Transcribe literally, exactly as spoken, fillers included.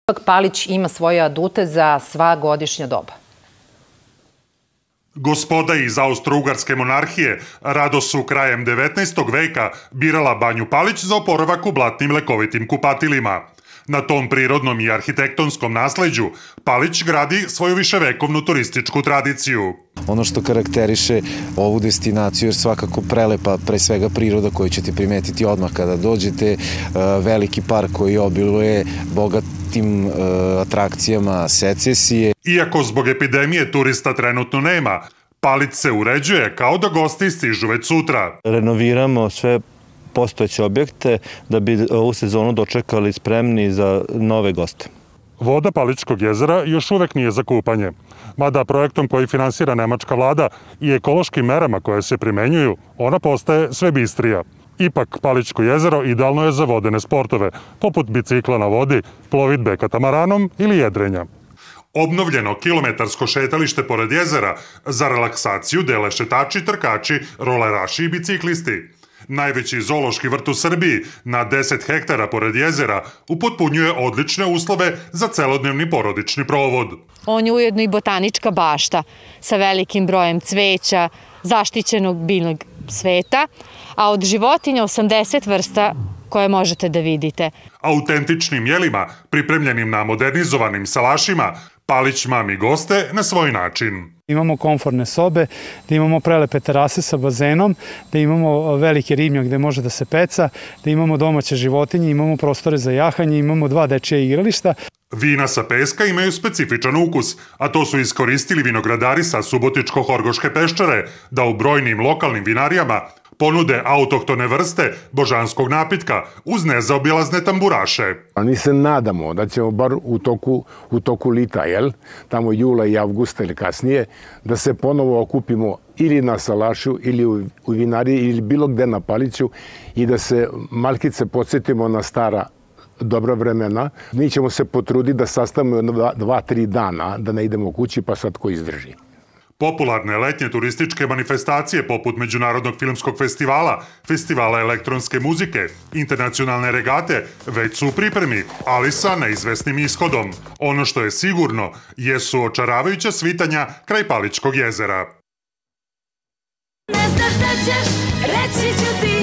Ipak Palić ima svoje adute za sva godišnja doba. Gospoda iz Austro-Ugarske monarhije rado su krajem devetnaestog veka birala Banju Palić za oporavak u blatnim lekovitim kupatilima. Na tom prirodnom i arhitektonskom nasleđu Palić gradi svoju viševekovnu turističku tradiciju. Ono što karakteriše ovu destinaciju je svakako prelepa, pre svega priroda koju ćete primetiti odmah kada dođete, veliki park koji obiluje bogatim atrakcijama secesije. Iako zbog epidemije turista trenutno nema, Palić se uređuje kao da gosti stižu već sutra. Renoviramo sve postojeće objekte da bi ovu sezonu dočekali spremni za nove goste. Voda Palićkog jezera još uvek nije za kupanje, mada projektom koji finansira nemačka vlada i ekološkim merama koje se primenjuju, ona postaje sve bistrija. Ipak, Palićko jezero idealno je za vodene sportove, poput bicikla na vodi, plovidbe katamaranom ili jedrenja. Obnovljeno kilometarsko šetalište pored jezera za relaksaciju dele šetači, trkači, roleraši i biciklisti. Najveći zoološki vrt u Srbiji na deset hektara pored jezera upotpunjuje odlične uslove za celodnevni porodični provod. On je ujedno i botanička bašta sa velikim brojem cveća, zaštićenog biljnog sveta, a od životinja osamdeset vrsta koje možete da vidite. Autentičnim jelima, pripremljenim na modernizovanim salašima, Palić mami goste na svoj način. Imamo komfortne sobe, da imamo prelepe terase sa bazenom, da imamo veliki ribnjak gde može da se peca, da imamo domaće životinje, imamo prostore za jahanje, imamo dva dečija igrališta. Vina sa peska imaju specifičan ukus, a to su iskoristili vinogradari sa Subotičko-Horgoške peščare da u brojnim lokalnim vinarijama ponude autohtone vrste božanskog napitka uz nezaobilazne tamburaše. Mi se nadamo da ćemo bar u toku, u toku lita, jel, tamo jula i avgusta ili kasnije, da se ponovo okupimo ili na salašu ili u, u vinariji ili bilo gde na Paliću i da se malkice podsjetimo na stara dobra vremena. Mi ćemo se potruditi da sastavimo dva, dva, tri dana, da ne idemo kući pa sad ko izdrži. Popularne letnje turističke manifestacije poput Međunarodnog filmskog festivala, festivala elektronske muzike, internacionalne regate već su u pripremi, ali sa neizvesnim ishodom. Ono što je sigurno jesu očaravajuća svitanja kraj Palićkog jezera. Ne znaš da ćeš, reći ću ti.